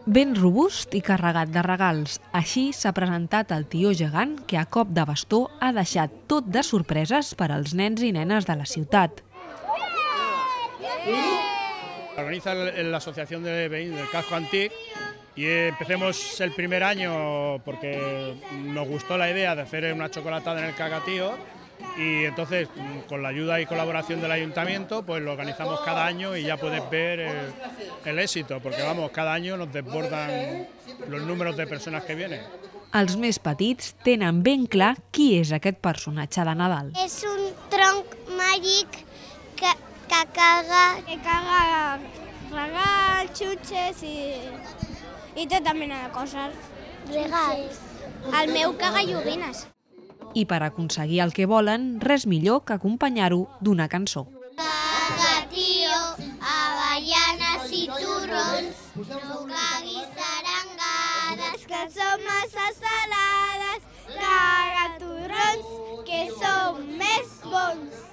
Ben robust i carregat de regals. Així s'ha presentat el tió gegant que a cop de bastó ha deixat tot de sorpreses per als nens i nenes de la ciutat. Organiza la Asociación de Vecinos del Casco Antic y empecemos el primer año porque nos gustó la idea de hacer una chocolatada en el Cacatío y entonces con la ayuda y colaboración del ayuntamiento pues lo organizamos cada año y ya puedes ver el éxito porque vamos, cada año nos desbordan los números de personas que vienen. Els més petits tenen ben clar qui és aquest personatge de Nadal. És un tronc màgic que caga regals, xutxes i tota mena de coses. Regals. El meu caga joguines. I per aconseguir el que volen, res millor que acompanyar-ho d'una cançó. Cagatío, avellanes i turrons, no caguis arengades, que són massa salades, caga turrons, que són més bons.